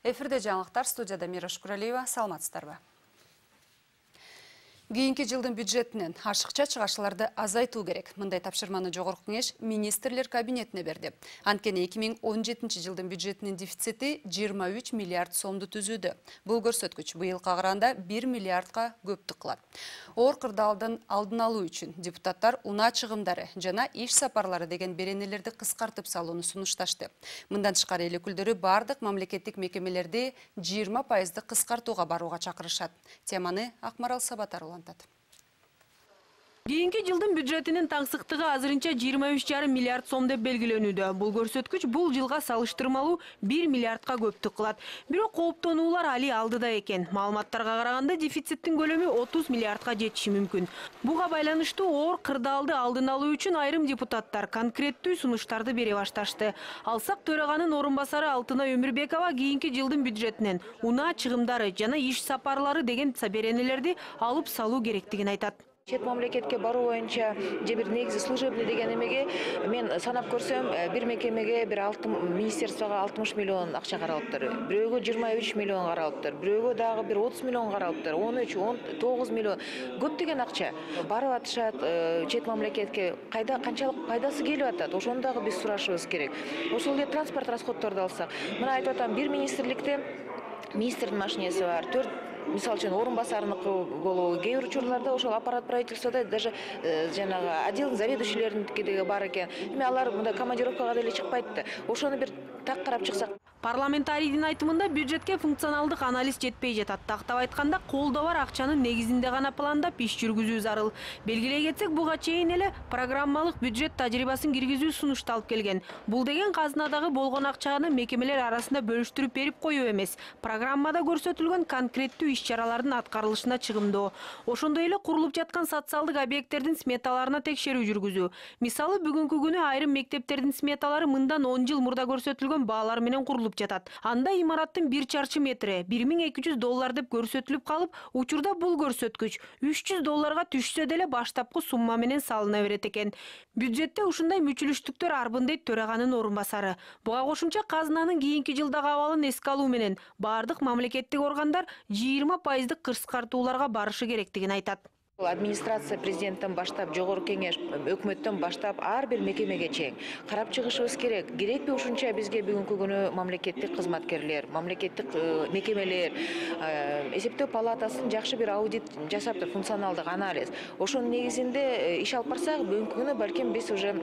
Эфирде жаңылыктар, студияда Мираш Куралиева, саламатсыздарбы? Кийинки жылдын бюджетинен ашыкча чыгашыларды азайтуу керек. Мындай тапшырманы Жогорку Кеңеш министрлер кабинетине берди. Анткени 2017 жылдын бюджетинин дефицити 23 миллиард сомду түзүүдө. Бул көрсөткүч быйылга караганда 1 миллиардка көптүк кылат. Оор кырдаалдын алдын алуу үчүн депутаттар унаа чыгымдары жана иш сапарлары деген беренелерди кыскартып салууну сунушташты. Мындан тышкары эл өкүлдөрү бардык мамлекеттик мекемелерди 20% кыскартууга барууга чакырышат. Теманы Акмарал Сабатар улантат. Кийинки жылдын бюджетинин таңсыктыгы азырынча 23,5 миллиард сом деп белгиленүүдө. Бул көрсөткүч бул жылга салыштырмалуу 1 миллиардка көптүк кылат. Бирок кооптонуулар али алдыда экен. Маалыматтарга караганда дефициттин көлөмү 30 миллиардка жетиши мүмкүн. Буга байланыштуу оор кырдаалды алдын алуу үчүн айрым депутаттар конкреттүү сунуштарды бере башташты. Алсак төраганын орун басары Алтынай Өмүрбекова кийинки жылдын бюджетинен унаа чыгымдары жана иш сапарлары деген беренелерди алып салуу керектигин айтат. Чет мамлекетке баруу боюнча же бир негизи служебный деген эмеге мен санап көрсөм, бир мекемеге бир министерствого 60 миллион акча каралыптыр. Бирөөгө 23 миллион каралыптыр. Бирөөгө дагы бир 30 миллион каралыптыр. 13-19 миллион. Көптөгөн акча. Барып атышат чет мамлекетке. Канчалык пайдасы келип атат? Ошону дагы биз сурашыбыз керек. Ошол эле транспорт расходторду алсак, мына айтып атам, бир министрликте министрдин машинеси бар. 4 мисалы үчүн орун басарыныкы болобу, кээ бир учурларда ошол аппарат правительствода даже жанагы отдел заведующийлериники бар экен. Эми алар мындай командировкага деле чыкпайт да. Ошону бир так карап чыксак. Парламентарийдин айтымында бюджетке функционалдык анализ жетпей жатат. Тактап айтканда, колдо бар акчанын негизинде гана пландап иш жүргүзүү зарыл. Белгилей кетсек, буга чейин эле программалык бюджет тажрыйбасын киргизүү сунушталып келген. Бул деген казынадагы болгон акчаны мекемелер арасында бөлүштүрүп берип коюу эмес. Программада көрсөтүлгөн конкреттүү иш-чаралардын аткарылышына чыгымдоо. Ошондой эле курулуп жаткан социалдык объекттердин сметаларына текшерүү жүргүзүү. Мисалы, бүгүнкү күнү айрым мектептердин сметалары мындан 10 жыл мурда көрсөтүлгөн баалар менен курулуп жатат. Анда имараттын 1 чарчы метри $1200 деп көрсөтүлүп калып, учурда бул көрсөткүч $300 түшсө деле баштапкы сумма менен салына берет экен. Бюджетте ушундай мүчүлүштүктөр арбын дейт төраганын орун басары. Буга кошумча казынанын кийинки жылдагы абалын эске алуу менен бардык мамлекеттик органдар 20% кыскартууларга барышы керектигин айтат. Администрация президенттен баштап, Жогорку Кеңеш, өкмөттөн баштап ар бир мекемеге чейин карап чыгышыбыз керек. Керекпи ушунча бизге бүгүнкү күнү мамлекеттик кызматкерлер, мамлекеттик мекемелер, эсептөө палатасын жакшы бир аудит жасаптыр, функционалдык анализ. Ошонун негизинде иш алып барсак, бүгүнкү күнү балким биз уже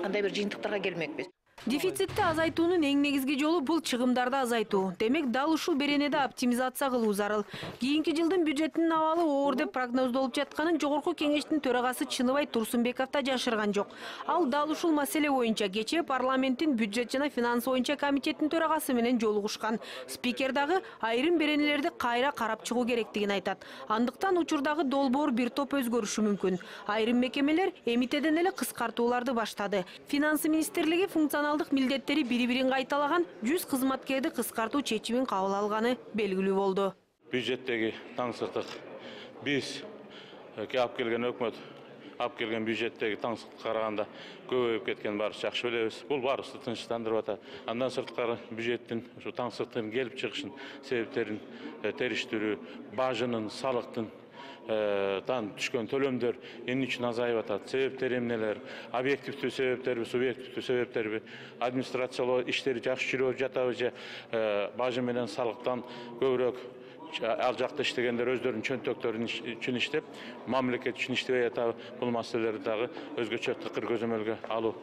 кандай бир жыйынтыктарга келмекпиз. Дефицитти азайтуунун эң негизги жолу бул чыгымдарды азайтуу. Демек, дал ушул беренеди оптимизация кылуу зарыл. Кийинки жылдын бюджетинин абалы оор деп прогноздолуп жатканын Жогорку Кеңештин төрагасы Чыныбай Турсунбеков да жашырган жок. Ал дал ушул маселе боюнча кечээ парламенттин бюджет жана финанс боюнча комитеттин төрагасы менен жолугушкан. Спикер дагы айрым беренелерди кайра карап чыгуу керектигин айтат. Андыктан учурдагы долбоор бир топ өзгөрүшү мүмкүн. Айрым мекемелер эмитеден эле кыскартууларды баштады. Финанс министрлиги функционалдык милдеттери бири-бирин кайталаган 100 кызматкерди кыскартуу чечимин кабыл алганы белгилүү болду. Бюджеттеги таңсыктык биз алып келген өкмөт алып келген бюджеттеги таңсыктыкка караганда көбөйүп кеткен баарыбыз жакшы билебиз. Бул баарыбызды тынчтандырып атат. Андан сырткары бюджеттин ушу таңсыктын келип чыгышын себептерин териштирүү, бажынын, салыктын түшкөн төлөмдөр эмне үчүн азайып атат, себептери эмнелер, объективдүү себептерби, субъективдүү себептерби, администрациялоо иштери жакшы жүрүп жатабы же бажы менен салыктан көбүрөөк ал жакта иштегендер өздөрүнүн чөнтөктөрү үчүн иштеп, мамлекет үчүн иштебей атабы, бул маселелерди дагы өзгөчө тыкыр көзөмөлгө алуу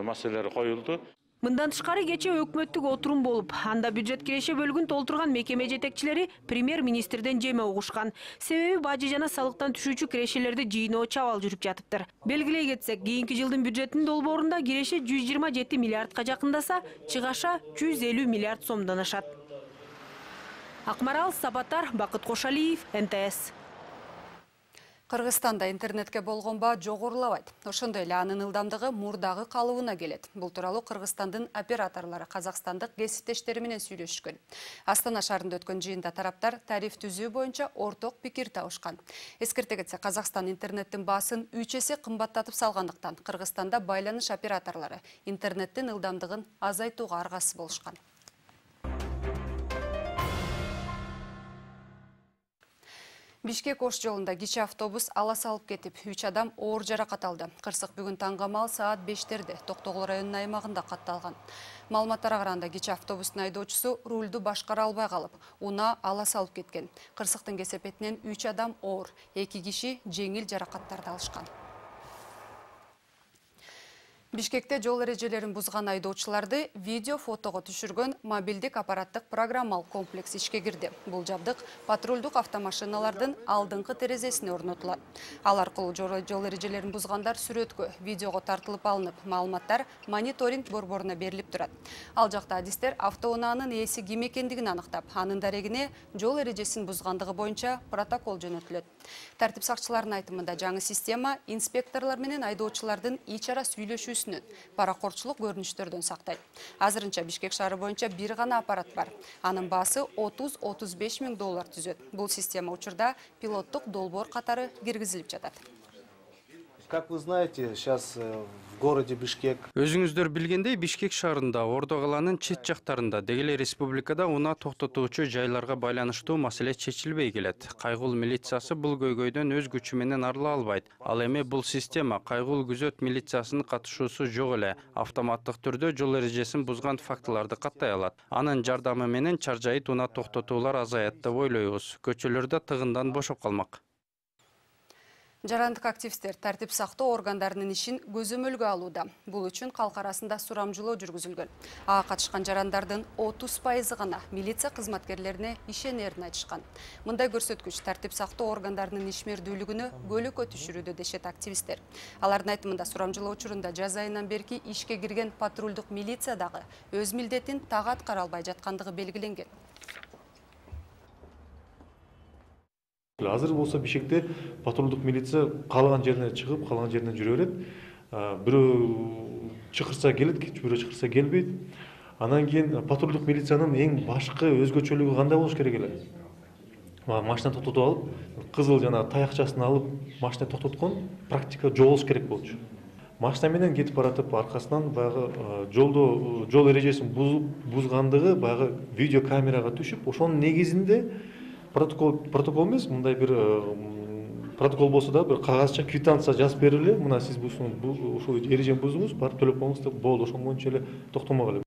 маселелери коюлду. Мындан тышкары кечээ өкмөттүк отурум болуп, анда бюджет киреше бөлүгүн толтурган мекеме жетекчилери премьер-министрден жеме угушкан. Себеби бажы жана салыктан түшүүчү кирешелерди жыйноо чабал жүрүп жатыптыр. Белгилей кетсек, кийинки жылдын бюджетинин долбоорунда киреше 127 миллиардка жакындаса, чыгаша 150 миллиард сомдон ашат. Акмарал Сабатар, Бакыт Кошалиев, НТС. Кыргызстанда интернетке болгон баа жогорулабайт. Ошондой эле анын ылдамдыгы мурдагы калыбына келет. Бул тууралуу Кыргызстандын операторлору казакстандык кесиптештери менен сүйлөшкөн. Астана шаарында өткөн жыйында тараптар тариф түзүү боюнча орток пикир табышкан. Эскерте кетсек, Казакстан интернеттин баасын 3 эсе кымбаттатып салгандыктан Кыргызстанда байланыш операторлору интернеттин ылдамдыгын азайтууга аргасыз болушкан. Бишкек Ош жолунда кичи автобус ала салып кетип, 3 адам оор жаракат алды. Кырсык бүгүн таңгамал саат 5-терде Токтогул районунун аймагында катталган. Маалыматтарга караганда кичи автобустун айдоочусу рулду башкара албай калып, унаа ала салып кеткен. Кырсыктын кесепетинен 3 адам оор, 2 киши жеңил жаракаттарды алышкан. Бишкекте жол эрежелерин бузган айдоочуларды видео фотого түшүргөн мобилдик аппараттык программалык комплекс ишке кирди. Бул жабдык патрулдук автомашиналардын алдыңкы терезесине орнотулат. Ал аркылуу жол эрежелерин бузгандар сүрөткө, видеого тартылып алынып, маалыматтар мониторинг борборуна берилип турат. Ал жакта адистер автоунаанын ээси ким экендигин аныктап, анын дарегине жол эрежесин бузгандыгы боюнча протокол жөнөтүлөт. Тартип сакчыларынын айтымында жаңы система инспекторлор менен айдоочулардын ич ара сүйлөшүүсүнөн, паракорчулук көрүнүштөрдөн сактайт. Азырынча Бишкек шаары боюнча бир гана аппарат бар. Анын баасы 30-35 миң доллар түзөт. Бул система учурда пилоттук долбоор катары киргизилип жатат. Как вы знаете, сейчас в городе Бишкек. Өзүңүздөр билгендей, Бишкек шаарында, Ордо каланын чет жактарында, деги эле республикада унаа токтотуучу жайларга байланыштуу маселе чечилбей келет. Кайгул милициясы бул көйгөйдөн өз күчү менен арыла албайт. Ал эми бул система кайгул күзөт милициясынын катышуусу жок эле автоматтык түрдө жол эрежесин бузган фактыларды каттай алат. Анын жардамы менен чаржайыт унаа токтотуулар азаят деп ойлойбуз. Көчөлөрдө тыгындан бошоп калмак. Жарандык активисттер тартип сактоо органдарынын ишин көзөмөлгө алууда. Бул үчүн калк арасында сурамжылоо жүргүзүлгөн. Ага катышкан жарандардын 30% гана милиция кызматкерлерине ишенерин айтышкан. Мындай көрсөткүч тартип сактоо органдарынын ишмердүүлүгүнө көлөкө түшүрүүдө дешет активисттер. Алардын айтымында сурамжылоо учурунда жаз айынан берки ишке кирген патрулдук милиция дагы өз милдетин так аткара албай жаткандыгы белгиленген. Азыр болсо Бишкекте патрулдук милиция каалаган жерине чыгып, каалаган жеринен жүрө берет. Бирөө чакырса келет, бирөө чакырса келбейт. Анан кийин патрулдук милициянын эң башкы өзгөчөлүгү кандай болуш керек эле? Машина токтотуп алып, кызыл жана таякчасын алып, машина токтоткон практика жок болуш керек болчу. Машина менен кетип баратып, аркасынан баягы жол эрежесин бузгандыгы баягы видео камерага түшүп, ошонун негизинде протокол эмес, мындай бир протокол болсо да бир кагазча квитанция жазып бериле, мына сиз ушул эрежени буздуңуз, барып төлөп коюңуз деп болду, ошон боюнча эле токтомок эле.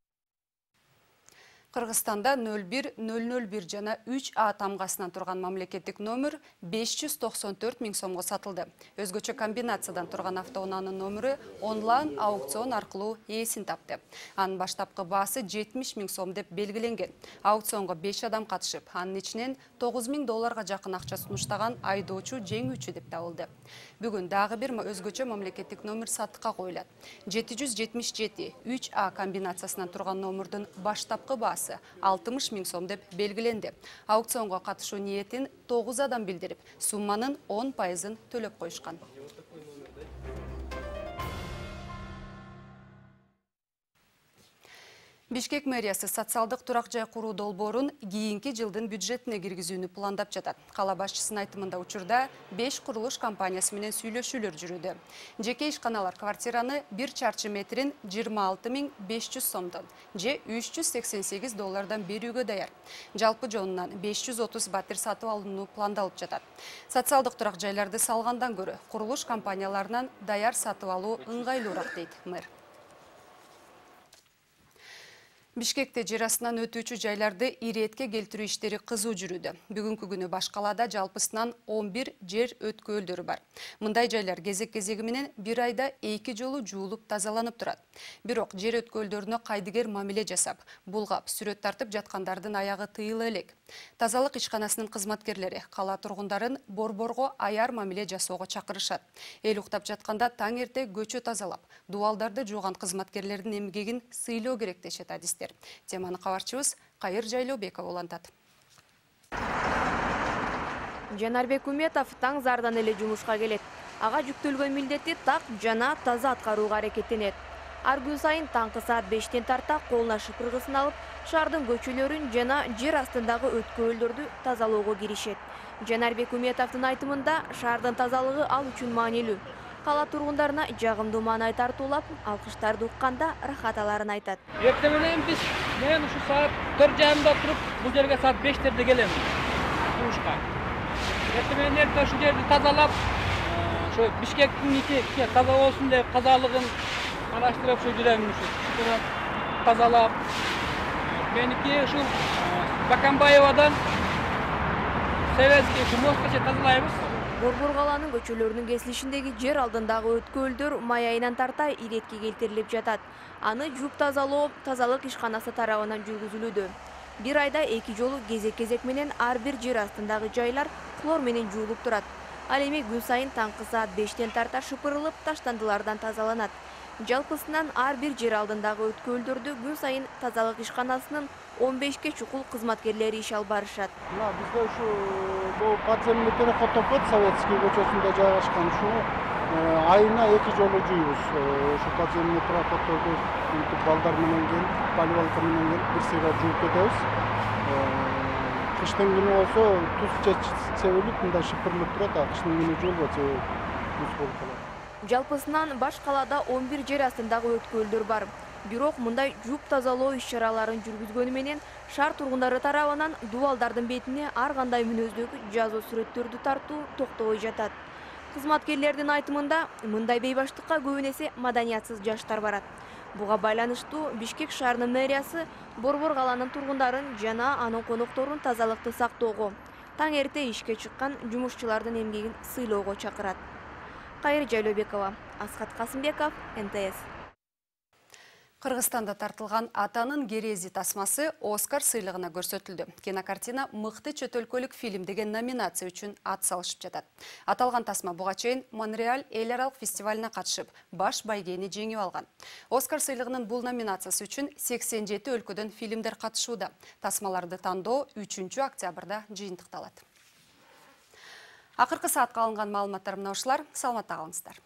Кыргызстанда 01001 жана 3А тамгасынан турган мамлекеттик номер 594 миң сомго сатылды. Өзгөчө комбинациядан турган автоунаанын номеру онлайн аукцион аркылуу ээсин тапты. Анын баштапкы баасы 70 миң сом деп белгиленген. Аукционго 5 адам катышып, анын ичинен 9 миң долларга жакын акча сунуштаган айдоочу жеңүүчү деп табылды. Бүгүн дагы бир өзгөчө мамлекеттик номер сатыкка коюлат. 777 3А комбинациясынан турган номердин баштапкы баасы 60 миң сом деп белгиленди. Аукционго катышуу ниетин 9 адам билдирип, сумманын 10%-ын төлөп коюшкан. Бишкек мэриясы социалдык турак жай куруу долбоорун кийинки жылдын бюджетине киргизүүнү пландап жатат. Кала башчысынын айтымында учурда 5 курулуш компаниясы менен сүйлөшүүлөр жүрүүдө. Жеке ишканалар квартираны 1 чарчы метрин 26 500 сомдон же 388 доллардан берүүгө даяр. Жалпы жонунан 530 батир сатып алууну пландалып жатат. Социалдык турак жайларды салгандан көрө курулуш компанияларынан даяр сатып алуу ыңгайлуураак дейт мэр. Бишкекте жер астынан өтүүчү жайларды иретке келтирүү иштери кызуу жүрүүдө. Бүгүнкү күнү баш калаада жалпысынан 11 жер өткөлдөрү бар. Мындай жайлар кезек-кезеги менен бир айда 2 жолу жуулуп тазаланып турат. Бирок жер өткөлдөрүнө кайдыгер мамиле жасап, булгап, сүрөт тартып жаткандардын аягы тыйыла элек. Тазалык ишканасынын кызматкерлери кала тургундарын борборго аяр мамиле жасоого чакырышат. Эл уктап жатканда таң эрте көчө тазалап, дубалдарды жууган кызматкерлердин эмгегин сыйлоо керек дешет адистер. Теманы кабарчыбыз Кайыр Жайлообеков улантат. Жанарбек Уметов таң зардан эле жумушка келет. Ага жүктөлгөн милдетти так жана таза аткарууга аракеттенет. Ар күн сайын таңкы саат 5-тен тарта колуна шыпыргысын алып, шаардын көчөлөрүн жана жер астындагы өткөлдөрдү тазалоого киришет. Жанарбек Уметовдун айтымында шаардын тазалыгы ал үчүн маанилүү. Кала тургундарына жагымдуу маанай тартуулап, алкыштарды укканда рахат аларын айтат. Эртең менен мен ушу саат 4:30 туруп, бул жерге саат 5-терде келем. Жумушка. Эртең эле ошол жерди тазалап, ошо Бишкектин таза болсун деп тазалыгын караштырып ошо жүрөм, ошо тазалап. Меники ушул Бакамбаевадан Советский мостчу тазалайбыз. Борбор калаанын көчөлөрүнүн кесилишиндеги жер алдындагы өткөлдөр май айынан тарта иретке келтирилип жатат. Аны жууп тазалоо тазалык ишканасы тарабынан жүргүзүлүүдө. Бир айда 2 жолу кезек менен ар бир жер астындагы жайлар хлор менен жуулуп турат. Ал эми күн сайын таңкы саат 5тен тарта шыпырылып, таштандылардан тазаланат. Жалпысынан ар бир жер алдындагы өткөлдөрдү күн сайын тазалык ишканасынын 15 чукул кызматкерлери иш алып барышат. Бизде ушу бул подземный переход Советский көчөсүндө жайгашкан, ушу айына 2 жолу жуйбуз. Ушу подземный переходдорду балдар менен келип, поливалка менен келип, бир сыйра жууп кетебиз. Кыштын күнү болсо туз себилип, мындай шыпырылып турат, кыштын күнү жуулбайт, туз болуп калат. Жалпысынан баш калаада 11 жер астындагы өткөлдөр бар. Бирок мындай жууп тазалоо иш-чараларын жүргүзгөнү менен шаар тургундары тарабынан дубалдардын бетине ар кандай мүнөздөгү жазуу сүрөттөрдү тартуу токтобой жатат. Кызматкерлердин айтымында мындай бейбаштыкка көбүн эсе маданиятсыз жаштар барат. Буга байланыштуу Бишкек шаарынын мэриясы Борбор калаанын тургундарын жана анын конокторун тазалыкты сактоого, таң эрте ишке чыккан жумушчулардын эмгегин сыйлоого чакырат. Кайыр Жайлообекова, Асхат Касымбеков, НТС. Кыргызстанда тартылган Атанын керези тасмасы Оскар сыйлыгына көрсөтүлдү. Кинокартина мыкты чөт өлкөлүк фильм деген номинация үчүн ат салышып жатат. Аталган тасма буга чейин Монреаль эл аралык фестивалына катышып, баш байгени жеңип алган. Оскар сыйлыгынын бул номинациясы үчүн 87 өлкөдөн фильмдер катышууда. Тасмаларды тандоо 3-октябрда жыйынтыкталат. Акыркы саатка алынган маалыматтар мына ушулар. Саламатта калыңыздар.